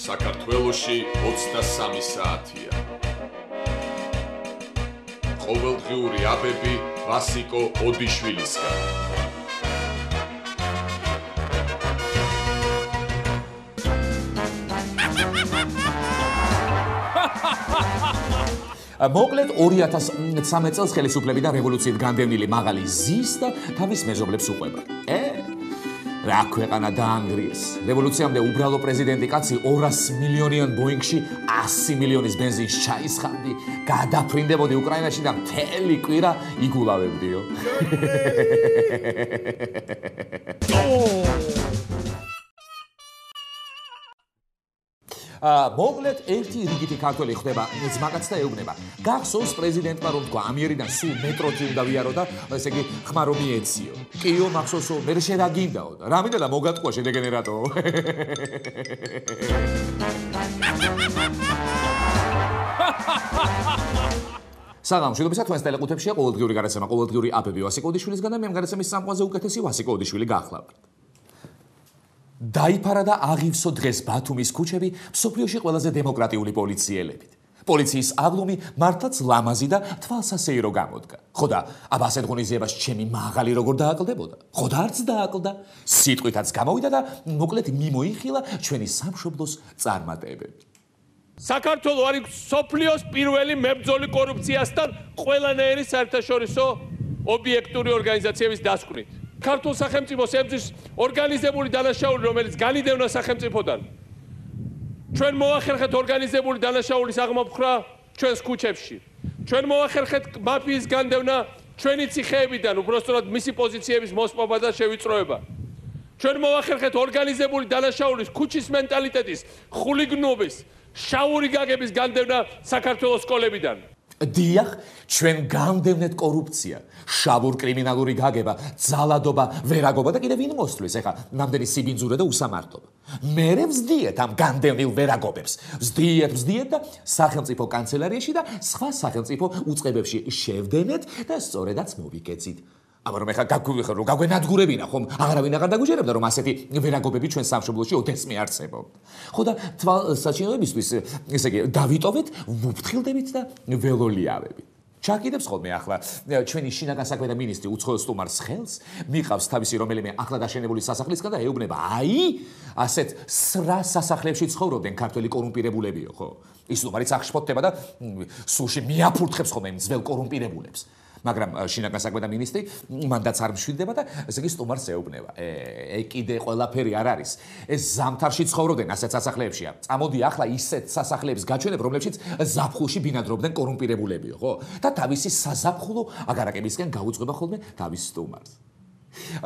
საქართველოში 23 საათია. ყოველდღიური აბები ვასიკო ოდიშვილისგან. მოკლედ 2013 წელს ხელისუფლებიდან რევოლუციით განდევნილი მაღალი ზის და თავის მეზობლებს უყვება. რა ქვეყანა დაანგრიეს. რევოლუციამდე უბრალო პრეზიდენტი კაცი 200 მილიონიან ბოინგში 100 მილიონის ბენზინს ჩაისხამდი, გადაფრინდებოდი უკრაინაში და მთელი კვირა იგულავებდიო. მოკლედ ერთი რიგითი ქართველი ხდება ძმაკაც და ეუბნება. გახსოვს პრეზიდენტმა რომ თქვა ამიერიდან სულ მეტროთი უნდა ვიარო და ესე იგი ხმა რომ მიეციო. კიო მახსოვსო მე შე რა გინდაო და რა მინდა და მოგატყუა შედეგენერატო. საღამოშიდობისა თქვენს ტელეკუთებშია ყოველდღიური გადაცემა ყოველდღიური აბები ვასიკო ოდიშვილისგან და მე ამ გადაცემის სამყაროზე უკეთესი ვასიკო ოდიშვილი გახლავთ. დაიფარა და აღივსო დღეს ბათუმის ქუჩები მსოფლიოში ყველაზე დემოკრატიული პოლიციელებით. პოლიციის აღლუმი მართლაც ლამაზი და თვალსასეირო გამოდგა. ხო და აბა ასეთ ღონისძიებას ჩემი მაღალი როგორ დააკლდებოდა? ხო და არც დააკლდა. სიტყვითაც გამოვიდა და მოკლედ მიმოიხილა ჩვენი სამშობლოს წარმატებები. საქართველოს არის სოფლიოს პირველი მებრძოლი კორუფციასთან ყველანაირი საერთაშორისო ობიექტური ორგანიზაციების დასკვნით. ქართულ სახელმწიფოს ებრძვის ორგანიზებული დანაშაული, რომელიც განიდევნა სახელმწიფოდან. ჩვენ მოახერხეთ ორგანიზებული დანაშაულის აღმოფხრა ჩვენს ქუჩებში. ჩვენ მოახერხეთ მაფიის განდევნა ჩვენი ციხეებიდან, უბრალოდ მისი პოზიციების მოსპობა და შევიწროება. ჩვენ მოახერხეთ ორგანიზებული დანაშაულის, ქუჩის მენტალიტეტის, ხულიგნობის, შაური გაგების განდევნა საქართველოს სკოლებიდან. დიახ, ჩვენ გამდევნეთ კორუფცია, შავურ კრიმინალური გაგება, ძალადობა, ვერაგობა და კიდევ ვინ მოსწვლის ეხა ნამდვილი სიბინძურე და უსამართლობა. მერე ვზდიეთ ამ განდევნილ ვერაგობებს. ვზდიეთ და სახელმწიფო კანცელარიაში და სხვა სახელმწიფო უწყებებში შევდენეთ და სწორედაც მოვიკეცით. აბა რომ ეხა გაგვენადგურებინა ხომ აღარავინ აღარ დაგუჯერებდა რომ ასეთი ვერაგობები ჩვენ სამშობლოში ოდესმე არსებობდა. ხო და თვალსაჩინოებისთვის ესე იგი დავიტოვეთ, ვუფრთხილდებით და ველოლიავებით. ჩაკიდებს ხოლმე ახლა ჩვენი შინაგან საქმეთა მინისტრი უცხოელ სტუმარს ხელს, მიყავს თავისი რომელიმე ახლა დაშენებული სასახლისგან და ეუბნება, ასეთ სრა სასახლეებში ცხოვრობდნენ ქართველი კორუმპირებულებიო, ხო? ის სტუმარიც აღშფოთდება და სულში მიაფურთხებს ხოლმე იმ ძველ კორუმპირებულებს. მაგრამ შინაგან საქმეთა მინისტრი მანდაც არ მშვიდდება და ესე იგი სტუმარს ეუბნება. კიდე ყველაფერი არ არის. ეს ზამთარში ცხოვრობდნენ ასეთ სასახლეებშია. წამოდი ახლა ისეთ სასახლეებს გაჩვენებ, რომლებშიც ზაფხულში ბინადრობდნენ კორუმპირებულებიო, ხო? და თავისი საზაფხულო აგარაკებისკენ გაუძღვება ხოლმე თავის სტუმარს.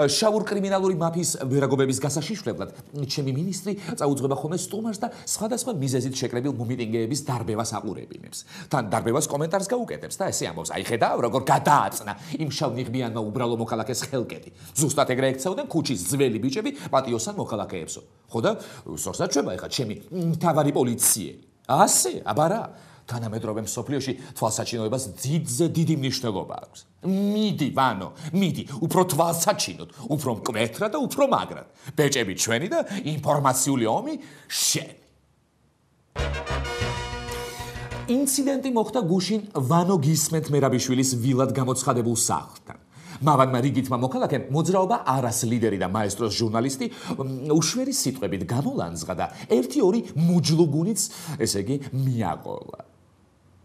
შავურ კრიმინალური მაფიის ვერაგობების გასაშიშვლებლად ჩემი მინისტრი წაუძღვება ხოლმე სტუმარს და სხვადასხვა მიზეზით შეკრებილ მომიტინგეების დარბევას აყურებინებს. თან დარბევას კომენტარს გაუკეთებს და ესე ამბობს, ხედავ როგორ გადააწნა იმ შავნიღბიანმა უბრალო მოქალაქეს ხელკეთი. ზუსტად ეგრე ექცეოდნენ ქუჩის ძველი ბიჭები პატიოსან მოქალაქეებსო. ხო და სორსაც შვება ეხა ჩემი მთავარი პოლიციელი. ასე, აბა რა. თანამედროვე მსოფლიოში თვალსაჩინოებას დიდზე დიდი მნიშვნელობა აქვს. მიდი, ვანო, მიდი, უფრო თვალსაჩინოდ, უფრო მკვეთრად და უფრო მაგრად. ბეჭები ჩვენი და ინფორმაციული ომი შენი. ინციდენტი მოხდა გუშინ ვანო გისმენთ მერაბიშვილის ვილად გამოცხადებულ სახლთან. მავანმა რიგითმა მოქალაქემ მოძრაობა არას ლიდერი და მაესტროს ჟურნალისტი უშვერი სიტყვებით გამოლანძღა და 1-2 მუჯლუგუნიც, ესე იგი, მიაყოლა.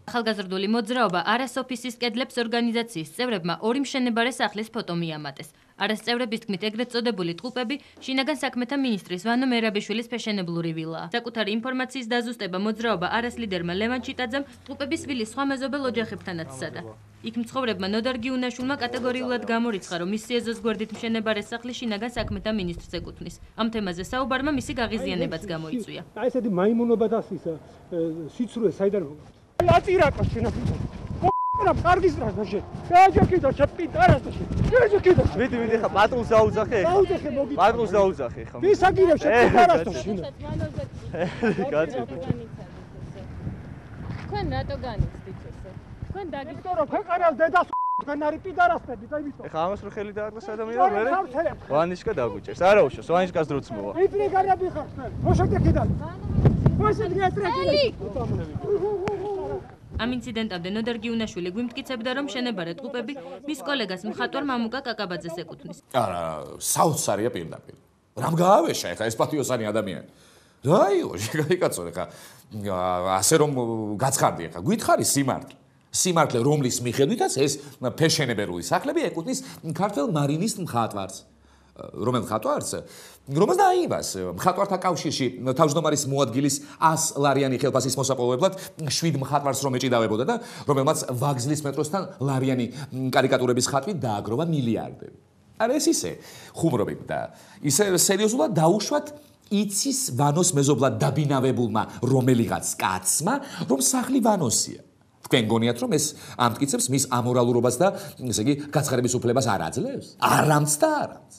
ახალგაზრდული მოძრაობა არას ოფისის კედლებს ორგანიზაციის წევრებმა 2 მშენებარე სახლის ფოტო მიამატეს. არას წევრების თქმით ეგრეთ წოდებული ტყუპები შინაგან საქმეთა მინისტრის ვანო მერაბიშვილის ფეშენებლური ვილაა. საკუთარი ინფორმაციის დაზუსტება მოძრაობა არას ლიდერმა ლევან ჩიტაძემ ტყუპების ვილის სხვა მეზობელ ოჯახებთანაც სცადა. იქ მცხოვრებმა ნოდარ გიუნაშვილმა კატეგორიულად გამორიცხა, რომ მისი ეზოს გვერდით მშენებარე სახლი შინაგან საქმეთა მინისტრს ეკუთვნის. ამ თემაზე საუბარმა მისი გაღიზიანებაც გამოიწვია. ესეთი მაიმუნობა და სიცრუე საიდან მოგა? აწირაკა შენაფიცა. რა კარგის რაშე. გააჯაკიდა ჩაპიტარას და შე. გააჯაკიდა. მიდი ხა პატრონს დაუძახე. დაუძახე მოგი. პატრონს დაუძახე ხა. ვის აგირებ ჩაპიტარას და შე. გააჯაკიდა. თქვენ რატო განიცდით ესე? თქვენ დაგიწყო რომ ქვეყანას დედას თქვენ არის პიდარასები და იმის. ხა ამას რო ხელი დააკლას ადამიანი მერე. ვანიშკა დაგუჭერს. არა უშავს, ვანიშკას დროც მოვა. იპრიგარები ხარ თქვენ. მოშეკეთიდან. ამ ინციდენტამდე ნოდარ გიუნაშვილი გვიმტკიცებდა, რომ შენებარე ტყუპები მის კოლეგას მხატვარ მამუკა კაკაბაძეს ეკუთვნის. არა, საოცარია პირდაპირ. რამ გაავეშა ეხა ეს პატიოსანი ადამიანი? რაიო, შეგაიკაცო ეხა ასე რომ გაცხარდი ეხა, გითხარი სიმართლე. სიმართლე რომლის მიხედვითაც ეს ფეშენებერული სახლები ეკუთვნის ქართველ მარინის მხატვარს. რომელ მხატვარს? რომელსაც დააიმას მხატვართა კავშირში თავმჯდომარის მოადგილის 100 ლარიანი ხელფასის მოსაპოვებლად 7 მხატვარს რომ ეჭიდავებოდა და რომელმაც ვაგზლის მეტროსთან ლარიანი კარიკატურების ხატვით დააგროვა მილიარდები. არა ეს ისე ხუმრობი და ისე სერიოზულად დაუშვათ იცის ვანოს მეზობლად დაბინავებულმა რომელიღაც კაცმა რომ სახლი ვანოსია. თქვენ გონიათ რომ ეს ამტკიცებს მის ამორალურობას და ესე იგი გაცხარების უფლებას არ აძლევს? არამც და არამც.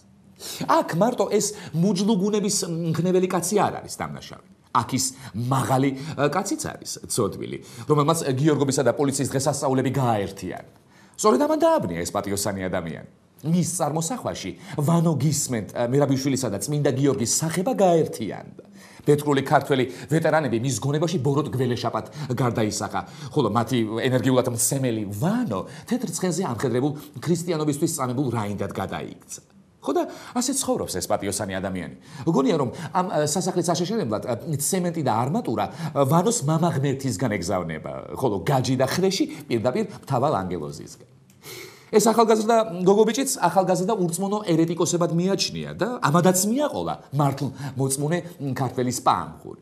აქ მარტო ეს მუჯლუგუნების მქნეველი კაცი არ არის დამნაშავე. აქ ის მაღალი კაციც არის ცოდვილი, რომელმაც გიორგობისა და პოლიციის დღესასწაულები გააერთიანა. სწორედ ამან დააბნია ეს პატიოსანი ადამიანი. მის წარმოსახვაში ვანო გისმენთ მერაბიშვილისა და წმინდა გიორგის სახება გააერთიანდა. ბეთქრული ქართველი ვეტერანები მის გონებაში ბოროტ გველეშაპად გარდაისახა, ხოლო მათი ენერგიულად მცემელი ვანო თეთრ ცხენზე ამხედრებულ ქრისტიანობისთვის წამებულ რაინდად გადაიქცა. ხო და ასე ცხოვრობს ეს პატიოსანი ადამიანი. გონია რომ ამ სასახლის აშეშერებლად ცემენტი და არმატურა ვანოს მამა ღმერთისგან ეგზავნება, ხოლო გაჯი და ხრეში პირდაპირ მთავარ ანგელოზისგან. ეს ახალგაზრდა გოგობიჭიც ახალგაზრდა ურწმუნო ერეტიკოსებად მიაჩნია და ამადაც მიაყოლა მართლ მოწმუნე ქართველის პამხური.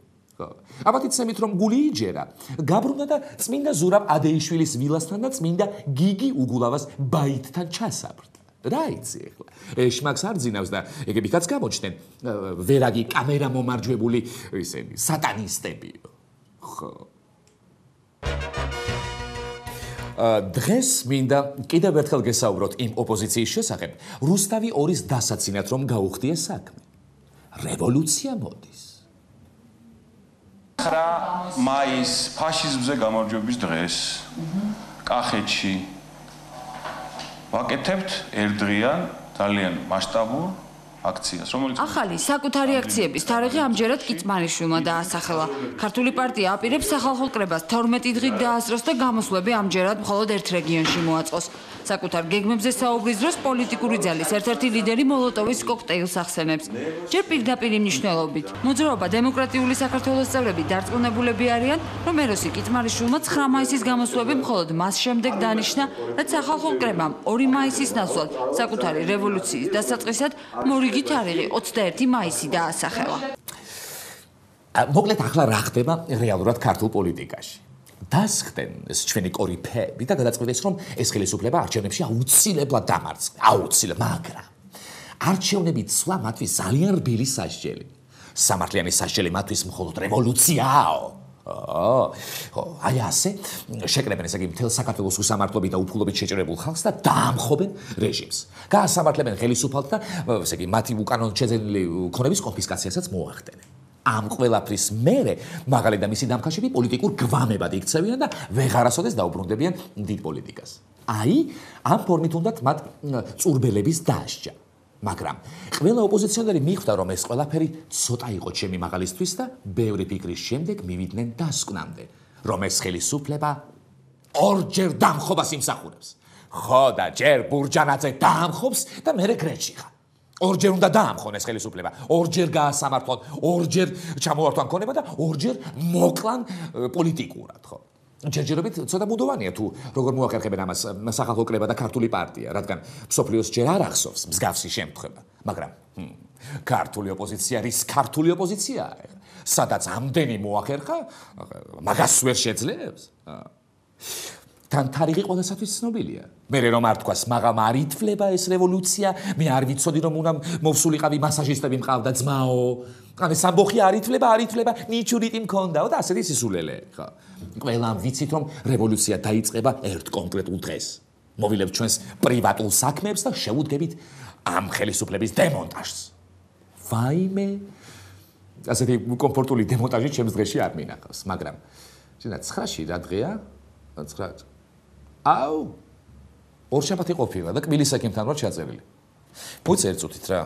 აბათი ცემით რომ გული იჯერა, გაბრუნა და წმინდა ზურაბ ადეიშვილის ვილასთან და წმინდა გიგი უგულავას ბაიტთან ჩასაბრდა. რა იცი ახლა? ეშმაკს არ ძინავს და ეგებითაც გამოჩნდნენ ვერაგი კამერა მომარჯვებული ისინი სატანისტებიო. ხო. დღეს მინდა კიდევ ერთხელ გესაუბროთ იმ ოპოზიციის შესახებ, რუსთავი 2-ის დასაცინად რომ გაუხდია საქმე. რევოლუცია მოდის. 9 მაის ფაშიზმზე გამარჯვების დღეს კახეთში ვაკეთებთ ერთდღიან ძალიან მასშტაბურ აქციას, რომელიც ახალი საკუთარი აქციების თარიღი ამჯერად კიწმარიშვილმა დაასახელა. ქართული პარტია აპირებს სახალხო კრებას 12 დღით დაასწროს და გამოსვლები ამჯერად მხოლოდ ერთ რეგიონში მოაწყოს. საკუთარ გეგმებზე საუბრის დროს პოლიტიკური ძალის ერთ-ერთი ლიდერი მოლოტოვის კოქტეილს ახსენებს. ჯერ პირდაპირ მნიშვნელობით. მოძრაობა დემოკრატიული საქართველოს წევრები დარწმუნებულები არიან, რომ ეროსი კიწმარიშვილმა 9 მაისის გამოსვლები მხოლოდ მას შემდეგ დანიშნა, რაც სახალხო კრებამ 2 მაისის ნაცვლად საკუთარი რევოლუციის დასაწყისად მორიგი თარიღი 21 მაისი დაასახელა. მოკლედ ახლა რა ხდება რეალურად ქართულ პოლიტიკაში? დასხდნენ ეს ჩვენი კორიფეები და გადაწყვეტეს რომ ეს ხელისუფლება არჩევნებში აუცილებლად დამარცხდა. აუცილებლად, მაგრამ არჩევნები ცვლა მათთვის ძალიან რბილი სასჯელი. სამართლიანი სასჯელი მათთვის მხოლოდ რევოლუციაო. აი ასე შეკრებენ ესე იგი მთელ საქართველოს უსამართლობით და უფულობით შეჭრებულ ხალხს და დაამხობენ რეჟიმს. გაასამართლებენ ხელისუფალს და ესე იგი მათი უკანონოდ შეძენილი ქონების კონფისკაციასაც მოახდენენ. ამ ყველაფრის მერე მაღალი და მისი დამხაშები პოლიტიკურ გვამებად იქცევიან და ვეღარასოდეს დაუბრუნდებიან დიდ პოლიტიკას. აი, ამ ფორმით უნდათ მათ წურბელების დასჯა. მაგრამ ყველა ოპოზიციონერი მიხვდა რომ ეს ყველაფერი ცოტა იყო ჩემი მაღალისთვის და ბევრი ფიქრის შემდეგ მივიდნენ დასკვნამდე, რომ ეს ხელისუფლება ორჯერ დამხობას იმსახურებს. ხო და ჯერ ბურჯანაძე დაამხობს და მერე გრეჩიხა. ორჯერ უნდა დაამხონ ეს ხელისუფლება, ორჯერ გაასამართლონ, ორჯერ ჩამოართვან ქონება და ორჯერ მოკლან პოლიტიკურად, ხო? ჯერჯერობით ცოტა ბუდოვანია თუ როგორ მოახერხებენ ამას სახალხო კრება და ქართული პარტია, რადგან მსოფლიოს ჯერ არ ახსოვს მსგავსი შემთხვევა, მაგრამ ქართული ოპოზიცია რის ქართული ოპოზიციაა, სადაც ამდენი მოახერხა, მაგას ვერ შეძლებს. თან თარიღი ყველასათვის ცნობილია. მერე რომ არ თქვას, მაგამ არ ითვლება ეს რევოლუცია, მე არ ვიცოდი რომ უნდა მოვსულიყავი მასაჟისტები მყავდა ძმაო. ან ეს ამბოხი არ ითვლება, ნიჩურიტი მქონდაო და ასეთი სისულელე, ხო. ყველამ ვიცით რომ რევოლუცია დაიწყება ერთ კონკრეტულ დღეს. მოვილებთ ჩვენს პრივატულ საქმეებს და შევუდგებით ამ ხელისუფლების დემონტაჟს. ვაიმე, ასეთი კომფორტული დემონტაჟი ჩემს დღეში არ მინახავს, მაგრამ შენ 9-ში რა დღეა? 9 აუ ორშაბათი ყოფილა და კბილის ექიმთან ვარ ჩაწერილი. მოიცა ერთ წუთით რა.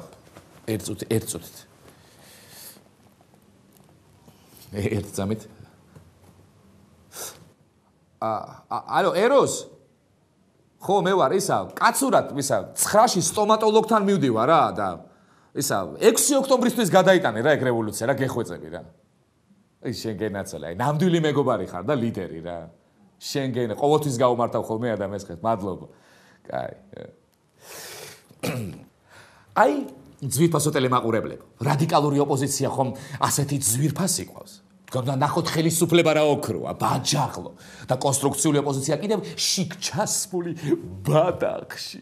ერთ წუთით. ერთ წამით. ალო, ეროს? ხო, მე ვარ ისა, კაცურად, ისა, 9-ში სტომატოლოგთან მივდივარ რა და ისა 6 ოქტომბრისთვის გადაიტანე რა ეგ რევოლუცია რა გეხვეწები რა. აი შენ გენაცვალე, აი ნამდვილი მეგობარი ხარ და ლიდერი რა. შენ გენ ყოველთვის გაუმართავ ხოლმე ადამიანს ხეთ, მადლობა. კაი. აი ძვირფასო ტელემაყურებლებო, რადიკალური ოპოზიცია ხომ ასეთი ძვირფასი ყავს. გონდა ნახოთ ხელისუფლება რა ოქროა, ბაჯაღლო და კონსტრუქციული ოპოზიცია კიდევ შიგ ჩასმული ბადახში.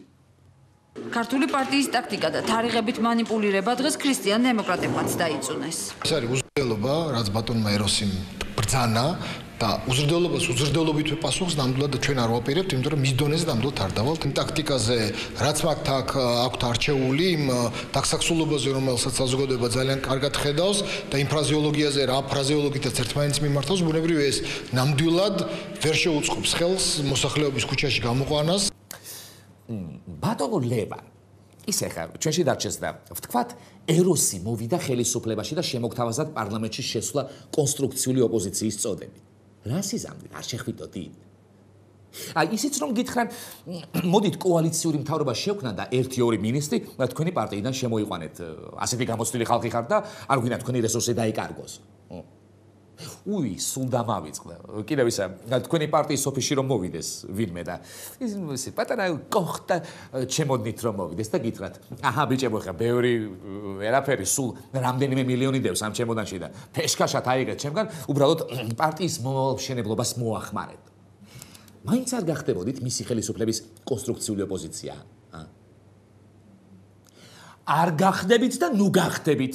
ქართული პარტიის ტაქტიკა და თარიღებით манипуლირება დღეს ქრისტიან დემოკრატებმაც დაიწუნეს. ეს არის უზრდელობა, რაც ბატონმა ეროსიმ ბრძანა და უზრდელობას უზრდელობითვე პასუხს ნამდვილად ჩვენ არ ვაპირებთ, იმიტომ რომ მის დონეზე ნამდვილად არ დავალთ. იმ ტაქტიკაზე, რაც მაგ აქვთ არჩეული, იმ დაქსაქსულობაზე, რომელსაც საზოგადოება ძალიან კარგად ხედავს და იმ ფრაზეოლოგიაზე, რა ფრაზეოლოგითაც ერთმანეთს მიმართავს, ბუნებრივია ეს ნამდვილად ვერ შეუწყობს ხელს მოსახლეობის ქუჩაში გამოყვანას. ბატონო ლევან, ისე ხარ, ჩვენში დარჩეს და ვთქვათ, ეროსი მოვიდა ხელისუფლებაში და შემოგთავაზად პარლამენტში შესვლა კონსტრუქციული ოპოზიციის წოდებით. რა სიზამთრე არ შეხვიდოდი? აი ისიც რომ გითხრან, მოდით კოალიციური მთავრობა შევქნა და 1-2 მინისტრი თქვენი პარტიიდან შემოიყვანეთ. ასეთი გამოცდილი ხალხი ხარ და არ გვინდა თქვენი რესურსი დაიკარგოს. უი, სულ დამავიწყდა. კიდევ ისა, თქვენი პარტიის ოფისში რომ მოვიდეს ვინმე და ისე პატარა კოხტა ჩემოდნით რომ მოვიდეს და გითხრათ, აჰა ბიჭებო ხა, ბევრი ვერაფერი, სულ რამდენიმე მილიონი დევს ამ ჩემოდანში და ფეშკაშად აიღეთ ჩემგან, უბრალოდ პარტიის მომავალშენებლობას მოახმარეთ. მაინც არ გახდებოდით მისი ხელისუფლების კონსტრუქციული ოპოზიცია? არ გახდებით და ნუ გახდებით.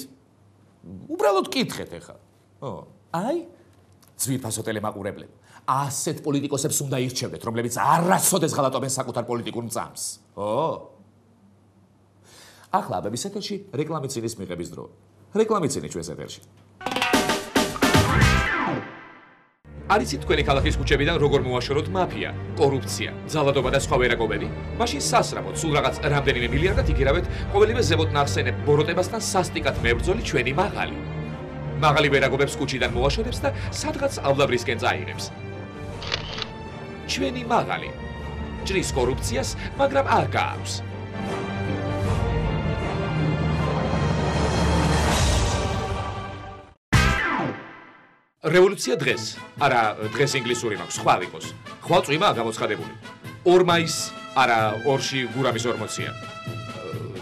უბრალოდ კითხეთ ახლა. აი, ძვირფასო ტელემაყურებლებო, ასეთ პოლიტიკოსებს უნდა ირჩევდეთ, რომლებიც არასოდეს ღალატობენ საკუთარ პოლიტიკურ მწამს. ახლა აბების ეთერში რეკლამიცინის მიღების დრო. რეკლამიცინი ჩვენს ეთერში. არიცით თქვენი ქალაქის ქუჩებიდან როგორ მოაშოროთ მაფია, კორუფცია, ძალადობა და სხვა ვერაგობები? მაშინ სასრაფოდ, სულ რაღაც რამდენიმე მილიარდად იგერავეთ ყოველივე ზემოთ ნახსენებ ბოროტებასთან სასტიკად მებრძოლი ჩვენი მაღალი. მაღალი ვერაგობებს ქუჩიდან მოაშორებს და სადღაც ავლაბრისკენ წაიღებს. ჩვენი მაღალი ჭრის კორუფციას, მაგრამ არ გააქვს. რევოლუცია დღეს. არა, დღეს ინგლისური მაქვს, სხვა ვიყოს. ხვალ წვიმაა გამოცხადებული. 2 მაისს, არა, 2-ში გურამის 40-ია.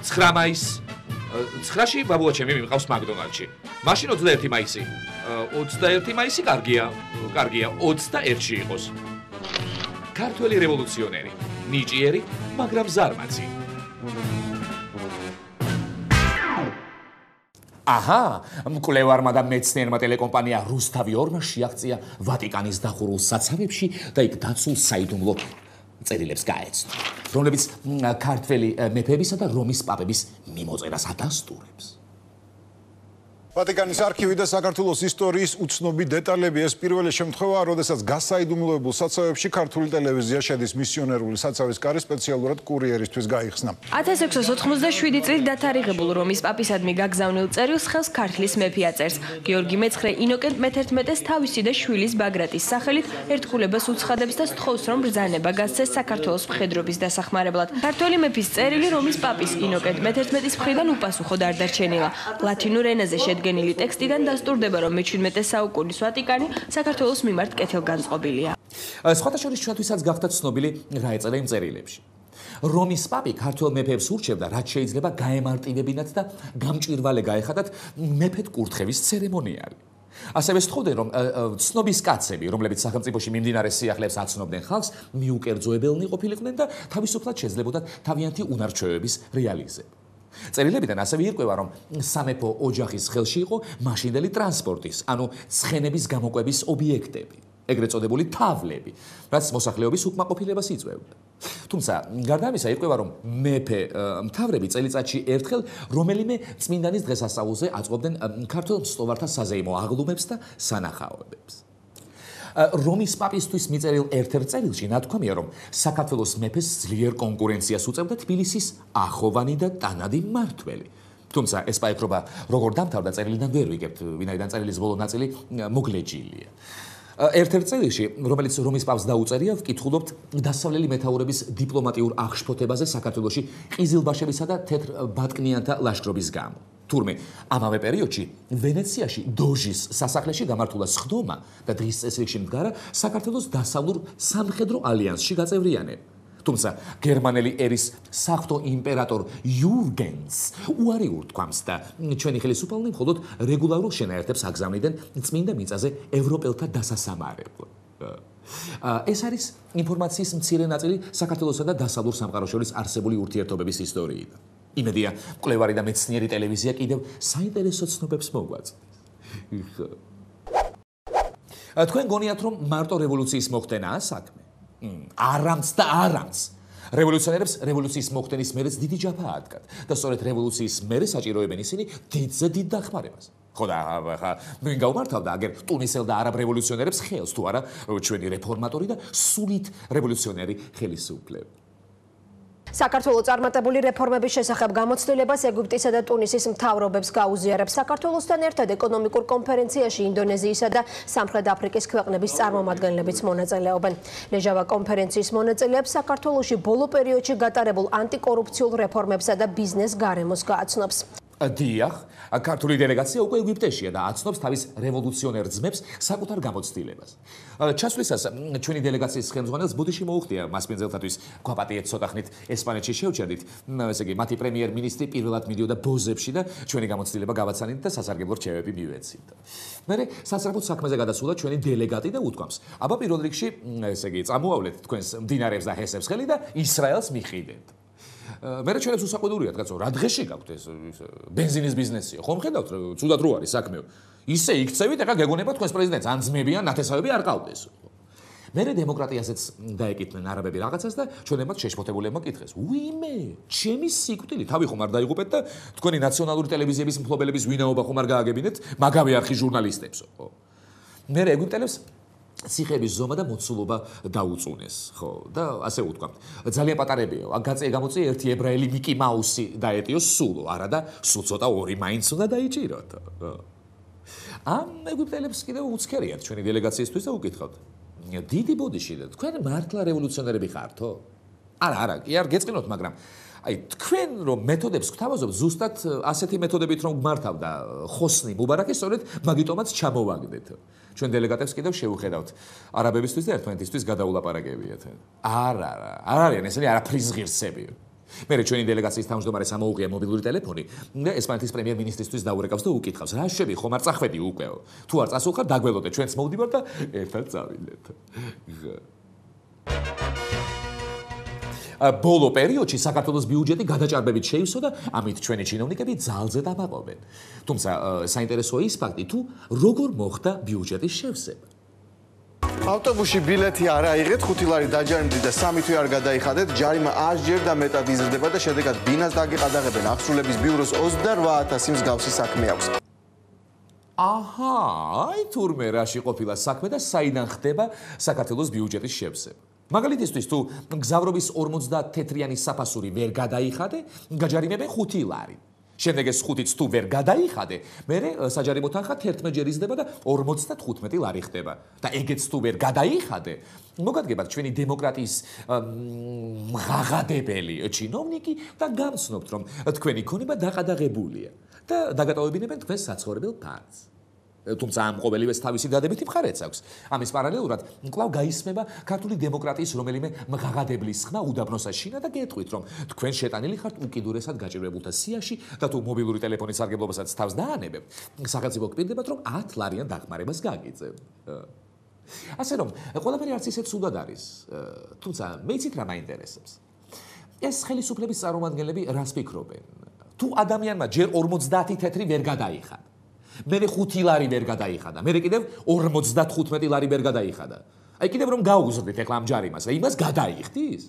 9 მაისს 9-ში ბაბუა ჩემი მიმყავს მაკდონალდში. მაშინ 21 მაისი. 21 მაისი კარგია, 21-ში იყოს. ქართველი რევოლუციონერი, ნიჭიერი, მაგრამ ზარმაცი. აჰა, მკვლევარმა და მეცნიერმა ტელეკომპანია რუსთავი 2-მა შეაღწია ვატიკანის დახურულ საცავებში და იქ დაცულ საიდუმლო წერილებს გაეცნო, რომლებიც ქართველი მეფეებისა და რომის პაპების მიმოწერას ადასტურებს. ვატიკანის არქივი და საქართველოს ისტორიის უცნობი დეტალები ეს პირველი შემთხვევაა, როდესაც გასაიდუმლოებულ საცავებში ქართული ტელევიზია შედის მისიონერული საცავის კარი სპეციალურად კურიერისთვის გაიხსნა. 1687 წლით დათარიღებულ რომის პაპისადმი გაგზავნილ წერილს ხელს ქართლის მეფე აწერს. გიორგი მეცხრე ინოკენტ მე-11-ს თავისი და შვილის ბაგრატის სახელით ერთგულებას უცხადებს და სთხოვს, რომ ბრძანება გასცეს საქართველოს მხედრობის დასახმარებლად. ქართველი მეფის წერილი რომის პაპის ინოკენტ მე-11-ის მხრიდან უპასუხოდ არ დარჩენილა. ლათინურ ენაზე შედგენილი ტექსტიდან დასტურდება, რომ მე-17 საუკუნის ვატიკანი საქართველოს მიმართ კეთილგანწყობილია. სხვათა შორის ჩვენთვისაც გახდა ცნობილი რა ეწერა იმ წერილებში. რომის პაპი ქართველ მეფეებს ურჩევდა, რაც შეიძლება გაემარტივებინათ და გამჭვირვალე გაეხადათ მეფედ კურთხევის ცერემონიალი. ასევე სთხოვდნენ, რომ ცნობის კაცები, რომლებიც სახელმწიფოში მიმდინარე სიახლეებს აცნობდნენ ხალხს, მიუკერძოებელნი ყოფილიყვნენ და თავისუფლად შეძლებოდათ თავიანთი უნარჩვევების რეალიზება. წერილებიდან ასევე ირკვევა, რომ სამეფო ოჯახის ხელში იყო მაშინდელი ტრანსპორტის, ანუ ცხენების გამოკვების ობიექტები, ეგრეთ წოდებული თავლები, რაც მოსახლეობის უკმაყოფილებას იწვევდა. თუმცა, გარდა ამისა, ირკვევა, რომ მეფე მთავრები წელიწადში ერთხელ რომელიმე წმინდანის დღესასწაულზე აწყობდნენ ქართველ მსტოვართა საზეიმო აღლუმებს და სანახაობებს. რომის პაპისთვის მიწერილ ერთ-ერთ წერილში ნათქვამია, რომ საქართველოს მეფეს ძლიერ კონკურენციას უწევდა თბილისის ახოვანი და ტანადი მმართველი, თუმცა ეს პაექრობა როგორ დამთავრდა წერილიდან ვერ ვიგებთ, ვინაიდან წერილის ბოლო ნაწილი მოგლეჯილია. ერთ-ერთ წერილში, რომელიც რომის პაპს დაუწერია, ვკითხულობთ დასავლელი მეთაურების დიპლომატიურ აღშფოთებაზე საქართველოში ყიზილბაშებისა და თეთრ ბატკნიანთა ლაშქრობის გამო. თურმე, ამავე პერიოდში ვენეციაში დოჟის სასახლეში გამართულა სხდომა და დღის წესრიგში მდგარა საქართველოს დასავლურ სამხედრო ალიანსში გაწევრიანება. თუმცა გერმანელი ერის საღვთო იმპერატორ იურგენს უარი ურთქვამს და ჩვენი ხელისუფალნი მხოლოდ რეგულარულ შენაერთებს აგზავნიდნენ წმინდა მიწაზე ევროპელთა დასასამარებლად. ეს არის ინფორმაციის მცირე ნაწილი საქართველოსა და დასავლურ სამყაროს შორის არსებული ურთიერთობების ისტორიიდან. იმედია, მკვლევარი და მეცნიერი ტელევიზია კიდევ საინტერესო ცნობებს მოგვაწვდის. თქვენ გონიათ, რომ მარტო რევოლუციის მოხდენაა საქმე? არამც და არამც. რევოლუციონერებს რევოლუციის მოხდენის მერეც დიდი ჯაფა ადგათ და სწორედ რევოლუციის მერე საჭიროებენ ისინი დიდზე დიდ დახმარებას. ხო და ხა ვინ გაუმართავდა აგერ ტუნისელ და არაბ რევოლუციონერებს ხელს თუ არა ჩვენი რეფორმატორი და სულით რევოლუციონერი ხელისუფლება. საქართველოს წარმატებული რეფორმების შესახებ გამოცდილებას ეგვიპტისა და ტუნისის მთავრობებს გაუზიარებს. საქართველოსთან ერთად ეკონომიკურ კონფერენციაში ინდონეზიისა და სამხრეთ აფრიკის ქვეყნების წარმომადგენლებიც მონაწილეობენ. ლეჟავა კონფერენციის მონაწილეებს საქართველოში ბოლო პერიოდში გატარებულ ანტიკორუფციულ რეფორმებსა და ბიზნეს გარემოს გააცნობს. დიახ, ქართული დელეგაცია უკვე ეგვიპტეშია და აცნობს თავის რევოლუციონერ ძმებს საკუთარ გამოცდილებას. ჩასვლისას ჩვენი დელეგაციის ხელმძღვანელს ბუდიში მოუხდია მას პინძელთათვის გვაპატიეთ ცოტა ხნით ესპანეთში შევჩერდით. ესე იგი, მათი პრემიერ-მინისტრი პირველად მიდიოდა ბოზებში და ჩვენი გამოცდილება გავაცანით და სასარგებლო რჩევები მივეცით. მერე სასწრაფოდ საქმეზე გადასულა ჩვენი დელეგატი და უთქვამს: "აბა პირველ რიგში, ესე იგი, წამოავლეთ თქვენს მდინარეებს და ჰესებს ხელი და ისრაელს მიხიდეთ." მერე ჩვენებს უსაყვედურიათ, კაცო, რა დღეში გაქვთ ეს ბენზინის ბიზნესია? ხომ ხედავთ, ცუდად რო არის საქმე. ისე იქცევით, ეხლა გეგონება თქვენს პრეზიდენტს ან ძმები ან ნათესავები არ ყავდეს. მერე დემოკრატიასაც დაეკითხნენ არაბები რაღაცას და ჩვენებმა შეშფოთებულებმა კითხეს: "უიმე, ჩემი სიკვდილი, თავი ხომ არ დაიღუპეთ და თქვენი ნაციონალური ტელევიზიების მფლობელების ვინაობა ხომ არ გააგებინეთ მაგავე არხის ჟურნალისტებს?" ხო. მერე ეგვიპტელებს ციხების ზომა და მოცულობა დაუწუნეს, ხო? და ასე უთქვამთ. ძალიან პატარებია, გაწია გამოწია ერთი ებრაელი მიკი მაუსი დაეტიოს სულო, არა და სულ ცოტა ორი მაინც უნდა დაიჭიროთ. ამ ეგვიპტელებს კიდევ უცქერიათ ჩვენი დელეგაციისთვის და უკითხავთ: "დიდი ბოდიში, თქვენ მართლა რევოლუციონერები ხართო?" არა, კი არ გეწყინოთ, მაგრამ აი თქვენ რომ მეთოდებს გვთავაზობთ, ზუსტად ასეთი მეთოდებით რომ გმართავდა ხოსნი მუბარაკი, სწორედ მაგიტომაც ჩამოვაგდეთ. ჩვენ დელეგატებს კიდევ შევუხედავთ არაბებისთვის და ერთმანეთისთვის გადაულაპარაკებიათ. არა, არ არიან ესენი არაფრის ღირსები. მერე ჩვენი დელეგაციის თავმჯდომარეს ამოუღია მობილური ტელეფონი და ესპანეთის პრემიერ-მინისტრისთვის დაურეკავს და უკითხავს: "რა შეები, ხომ არ წახვედი უკვე? თუ არ წასულხარ, დაგველოდე, ჩვენც მოვდივარ და ერთად წავიდეთ." ბოლო პერიოდში საქართველოს ბიუჯეტი გადაჭარბებით შეივსო და ამით ჩვენი ჩინოვნიკები ძალზე დამაყობენ. თუმცა საინტერესოა ის ფაქტი, თუ როგორ მოხდა ბიუჯეტის შევსება. ავტობუსში ბილეთი არ აიღეთ, 5 ლარი დაჯარიმდით და 3 თვე არ გადაიხადეთ, ჯარიმა 100 ჯერ და მეტად იზრდება და შედეგად ბინას დაგეყადაღებენ. ახსრულების ბიუროს 28000 მსგავსი საქმე აქვს. აჰა, აი თურმე რაში ყოფილა საქმე და საიდან ხდება საქართველოს ბიუჯეტის შევსება. მაგალითისთვის თუ გზავრობის 50 თეთრიანი საფასური ვერ გადაიხადე, გაჯარიმებენ 5 ლარი. შემდეგ ეს 5-იც თუ ვერ გადაიხადე, მერე საჯარიმო თანხა 11 ჯერ იზრდება და 55 ლარი ხდება. და ეგეც თუ ვერ გადაიხადე, მოგადგებათ ჩვენი დემოკრატიის მღაღადებელი ჩინოვნიკი და გამცნობთ, რომ თქვენი ქონება დაყადაღებულია და დაგატოვებინებენ თქვენს საცხოვრებელ ფანს. თუმცა ამ ყოველივეს თავისი დადებითი მხარეც აქვს. ამის პარალელურად კვლავ გაისმება ქართული დემოკრატიის რომელიმე მღაღადებლის ხმა უდაბნოსა შინა და გეტყვით, რომ თქვენ შეტანილი ხართ უკიდურესად გაჭირვებულთა სიაში და თუ მობილური ტელეფონის სარგებლობასაც თავს დაანებებთ, სახელმწიფო გპირდებათ, რომ 10 ლარიან დახმარებას გაგიწევთ. ასე რომ, ყველაფერი არც ისე ცუდად არის. თუმცა მე იცით რა მაინტერესებს. ეს ხელისუფლების წარმომადგენლები რას ფიქრობენ? თუ ადამიანმა ჯერ 50 თეთრი ვერ გადაიხადა, მერე 5 ლარი ვერ გადაიხადა, მერე კიდევ 55 ლარი ვერ გადაიხადა. აი კიდევ რომ გაუგზავნით ეხლა ამ ჯარიმას და იმას გადაიხდის?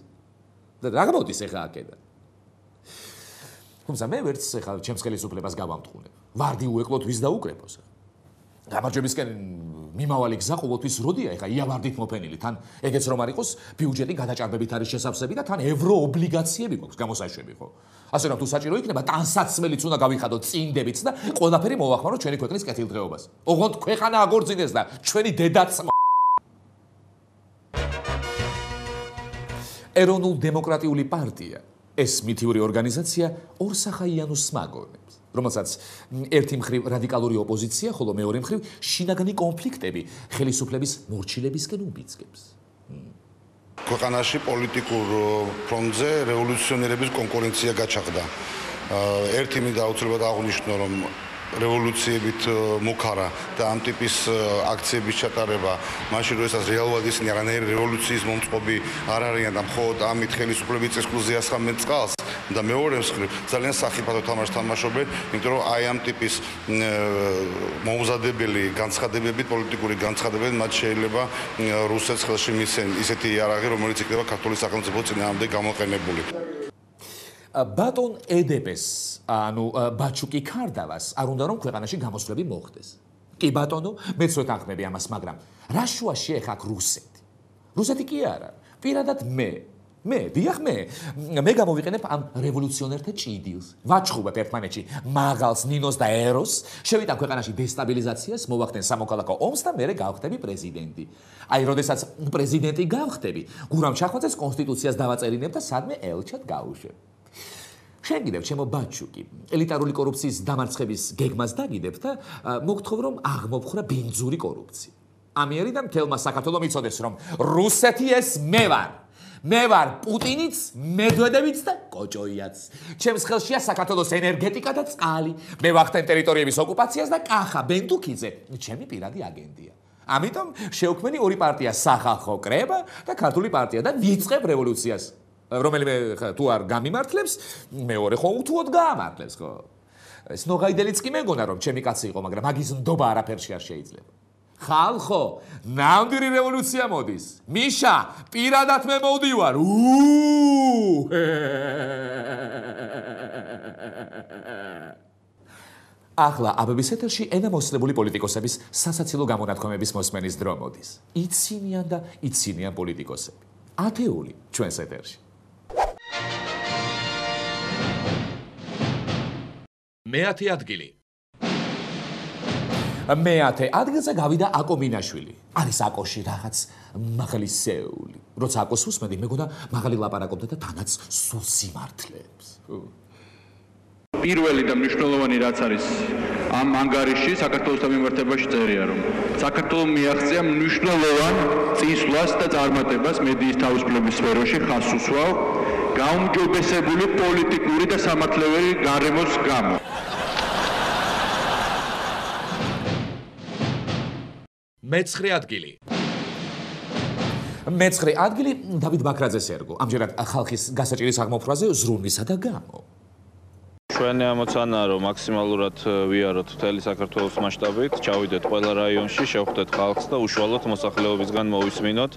და რა გამოდის ეხლა აქედან? თუმცა მე ვერც ეხლა ჩემს ხელისუფლებას გავამტყუნებ. ვარდი უეკლოდ ვის დაუკრეფოს. გამარჯვებისკენ მიმავალი გზა ყოველთვის როდია, ეხა იავარდით მოფენილი, თან ეგეც რომ არ იყოს, ბიუჯეტი გადაჭარბებით არის შესავსები და თან ევროობლიგაციები გვაქვს გამოსაშვები, ხო? ასე რომ თუ საჭირო იქნება, ტანსაცმელიც უნდა გავიხადოთ წინდებიც და ყველაფერი მოვახმაროთ ჩვენი ქვეყნის კეთილდღეობას. ოღონდ ქვეყანა აგორძინდეს და ჩვენი დედაც ეროვნულ დემოკრატიული პარტია ეს მითიური ორგანიზაცია ორსახაიანოს მაგონებს, რომელსაც ერთი მხრივ რადიკალური ოპოზიცია, ხოლო მეორე მხრივ შინაგანი კონფლიქტები ხელისუფლების მორჩილებისკენ უბიძგებს. ქვეყანაში პოლიტიკურ ფრონტზე რევოლუციონერების კონკურენცია გაჩაღდა. ერთი მინდა აუცილებლად აღვნიშნო, რომ რევოლუციებით მუქარა და ამ ტიპის აქციების ჩატარება, მაშინ როდესაც რეალურად ისინი არანაირი რევოლუციის მომწყობი არ არიან და მხოლოდ ამით ხელისუფლების წესრიგზე ასხამენ წყალს და მეორე მხრივ ძალიან სახიფათო თამაშს თამაშობენ, იმიტომ რომ აი ამ ტიპის მოუმზადებელი განცხადებებით, პოლიტიკური განცხადებებით მათ შეიძლება რუსეთს ხელში მისცენ ისეთი იარაღი, რომელიც იქნება ქართული სახელმწიფოს წინააღმდეგ გამოყენებული. ბატონ ედეპეს, ანუ ბაჩუკი ქარდავას არ უნდა რომ ქვეყანაში გამოსვლები მოხდეს. კი ბატონო, მეც ვეთანხმები ამას, მაგრამ რა შუაში ეხა აქ რუსეთი? რუსეთი კი არა, პირადად მე, დიახ მე გამოვიყენებ ამ რევოლუციონერთა ჭიდილს. ვაჩხუბებ ერთმანეთში მაღალს, ნინოს და ეროს, შევიტან ქვეყანაში დესტაბილიზაციას, მოვახდენ სამოქალაქო ომს და მერე გავხდები პრეზიდენტი. აი, როდესაც პრეზიდენტი გავხდები, გურამ ჩახვაძეს კონსტიტუციას დავაწერინებ და სადმე ელჩად გავუშვებ. შენ კიდევ ჩემო ბაჩუკი, ელიტარული კორუფციის დამარცხების გეგმას დაგიდებ და მოგთხოვ რომ აღმოფხრა ბინძური კორუფცია. ამიერიდან მთელმა საქართველომ იცოდეს რომ რუსეთი ეს მე ვარ პუტინიც, მედვედევიც და კოჭოიაც. ჩემს ხელშია საქართველოს ენერგეტიკა და წყალი. მე ვახდენ ტერიტორიების ოკუპაციას და კახა ბენდუქიძე ჩემი პირადი აგენტია. ამიტომ შევქმნი ორი პარტია, სახალხო კრება და ქართული პარტია და ვიწყებ რევოლუციას. რომელიმე თუ არ გამიმართლებს, მეორე ხო უთუოდ გაამართლებს, ხო? ეს ნოღაიდელიც კი მეგონა რომ ჩემი კაცი იყო, მაგრამ მაგის ნდობა არაფერში არ შეიძლება. ხალხო, ნამდვილი რევოლუცია მოდის. მიშა, პირადად მე მოვდივარ. ახლა აბების ეთერში ენამოსლებული პოლიტიკოსების სასაცილო გამონათქვამების მოსმენის დრო მოდის. იცინიან და იცინიან პოლიტიკოსები. ათეული ჩვენს ეთერში. მეათე ადგილი. მეათე ადგილზე გავიდა აკო მინაშვილი. არის აკოში რაღაც მაღლისეული. როცა აკოს უსმენდი, მეგონა მაღალი ლაპარაკობდა და თანაც სულ სიმართლეებს. პირველი და მნიშვნელოვანი რაც არის ამ ანგარიში საქართველოს დამემართებაში წერია, რომ საქართველოს მიაღწია მნიშვნელოვან წინსვლას და წარმატებას მედიის თავისუფლების სფეროში ხაზს უსვავ გაუმჯობესებული პოლიტიკური და სამართლებრივი გარემოს გამო. მეცხრე ადგილი. მეცხრე ადგილი დავით ბაქრაძეს ერგო. ამჯერად ხალხის გასაჭირის აღმოფხვრაზე ზრუნვისა და გამო. ჩვენი ამოცანაა, რომ მაქსიმალურად ვიაროთ მთელი საქართველოს მასშტაბით, ჩავიდეთ ყველა რაიონში, შევხვდეთ ხალხს და უშუალოდ მოსახლეობისგან მოვისმინოთ,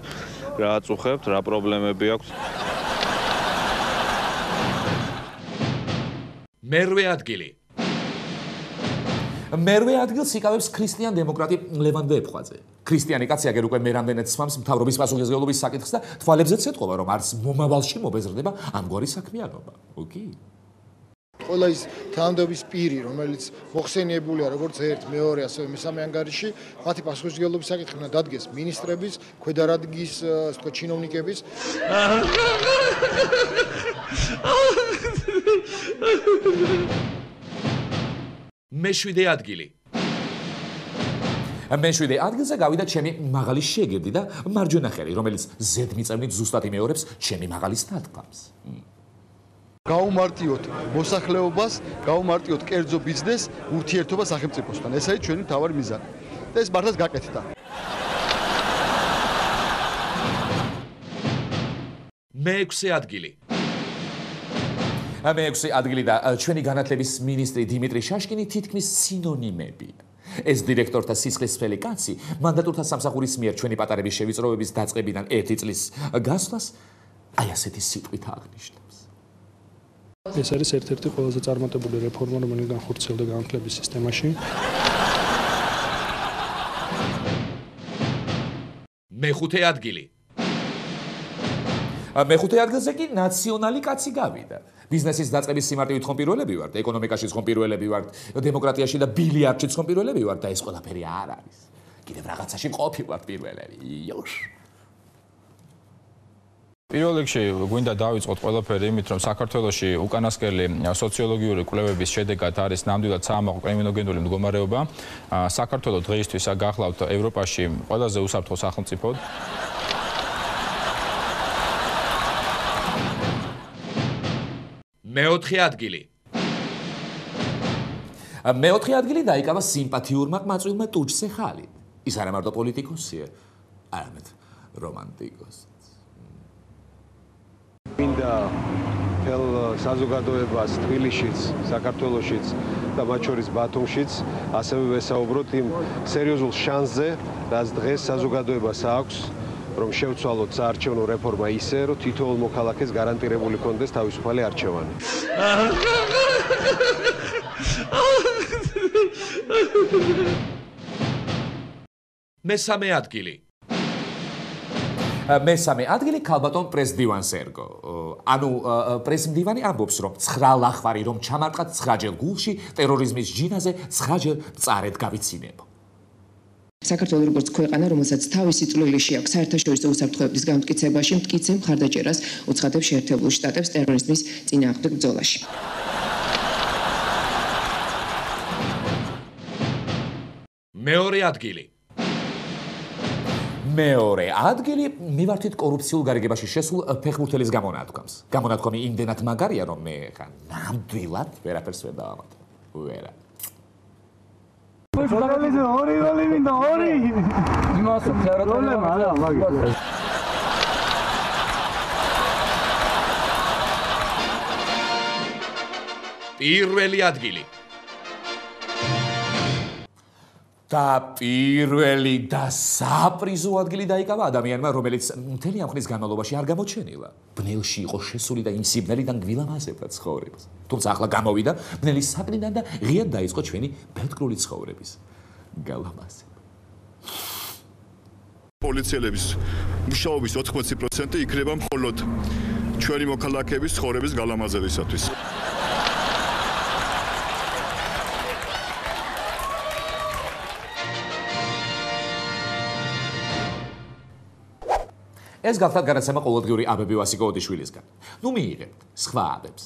რა აწუხებთ, რა პრობლემები აქვს. მერვე ადგილი. მერვე ადგილს იკავებს ქრისტიან დემოკრატი ლევან ვეფხვაძე. ქრისტიანი კაცი აგერ უკვე მე რამდენად სვამს მთავრობის პასუხისმგებლობის საკითხს და თვალებზეც ეთყობა, რომ არც მომავალში მობეზრდება ამგვარი საქმიანობა. ოკეი. ყველა ის თანამდებობის პირი, რომელიც მოხსენიებულია როგორც ერთ, მეორე, ასევე მესამე ანგარიში, მათი პასუხისმგებლობის საკითხი უნდა დადგეს მინისტრების, ქვედარადგის, ასე ვთქვათ, ჩინოვნიკების. მეშვიდე ადგილი. მეშვიდე ადგილზე გავიდა ჩემი მაღალი შეგირდი და მარჯვენა ხელი, რომელიც ზედმიწევნით ზუსტად იმეორებს ჩემი მაღალის ნათქვამს. გაუმარტიოთ მოსახლეობას, გაუმარტიოთ კერძო ბიზნესს, ურთიერთობა სახელმწიფოსთან. ეს არის ჩვენი მთავარი მიზანი. და ეს მართლაც გაკეთდა. მეექვსე ადგილი. მეექვსე ადგილი და ჩვენი განათლების მინისტრი დიმიტრი შაშკინი თითქმის სინონიმებია. ეს დირექტორთა სისხლისმფელი კაცი მანდატურთა სამსახურის მიერ ჩვენი პატარების შევიწროების დაწყებიდან 1 წლის გასვლას აი ასეთი სიტყვით აღნიშნავს. ეს არის ერთ-ერთი ყველაზე წარმატებული რეფორმა, რომელიც განხორციელდა განათლების სისტემაში. მეხუთე ადგილი. მეხუთე ადგილზე კი ნაციონალი კაცი გავიდა. ბიზნესის დაწყების სიმარტივით ხომ პირველები ვართ, ეკონომიკაშიც ხომ პირველები ვართ, დემოკრატიაში და ბილიარდშიც ხომ პირველები ვართ და ეს ყველაფერი არ არის. კიდევ რაღაცაში ყოფილვართ პირველები. იოშ. პირველ რიგში გვინდა დავიწყოთ ყველაფერი იმით, რომ საქართველოში უკანასკნელი სოციოლოგიური კვლევების შედეგად არის ნამდვილად საამაყო კრიმინოგენური მდგომარეობა. საქართველოს დღეისთვის გახლავთ ევროპაში ყველაზე უსაფრთხო სახელმწიფოდ. მეოთხე ადგილი. მეოთხე ადგილი დაიკავა სიმპათიურმა ყმაწვილმა ტუჩზე ხალით. ის არა მარტო პოლიტიკოსია, არამედ რომანტიკოსი. მინდა თელ საზოგადოებას თბილისშიც, საქართველოშიც და მათ შორის ბათუმშიც ასევე ვესაუბროთ იმ სერიოზულ შანსზე, რაც დღეს საზოგადოებას აქვს, რომ შევცვალოთ საარჩევნო რეფორმა ისე, რომ თითოეულ მოქალაქეს გარანტირებული კონდეს თავისუფალი არჩევანი. მესამე ადგილი. მესამე ადგილი ქალბატონ პრესდივანს ერგო. ანუ პრესდივანი ამბობს, რომ 9 ლახვარი რომ ჩამარტყათ 9-ჯერ გულში ტერორიზმის ჯინაზე 9-ჯერ მწარედ გავიცინებო. საქართველოს როგორც ქვეყანა, რომელსაც თავისი წვლილი აქვს საერთაშორისო უსაფრთხოების განმტკიცებაში, მტკიცე მხარდაჭერას უცხადებს შეერთებულ შტატებს ტერორიზმის წინააღმდეგ ბრძოლაში. მეორე ადგილი. მეორე ადგილი მივართით კორუფციულ გარიგებაში შესულ ფეხბურთელის გამონათქვამს. გამონათქვამი იმდენად მაგარია, რომ მე ხან ნამდვილად ვერაფერს ვერ დავამატებ. ვერა. ორი გოლი მინდა, ორი. იმას პრობლემა არა, მაგის. პირველი ადგილი. და პირველი და საპრიზო ადგილი დაიკავა ადამიანმა, რომელიც მთელი ამ ხნის განმავლობაში არ გამოჩენილა. ბნელში იყო შესული და იმ სიბნელიდან გვილამაზებდა ცხოვრებას. თუმცა ახლა გამოვიდა ბნელის საკნიდან და ღიად დაიწყო ჩვენი ბედკრული ცხოვრების გალამაზება. პოლიციელების მუშაობის 80% იქნება მხოლოდ ჩვენი მოქალაქეების ცხოვრების გალამაზებისათვის. ეს გახლავთ განაცემა ყოველდღიური აბები ვასიკო ოდიშვილისგან. ნუ მიიღებთ სხვა აბებს.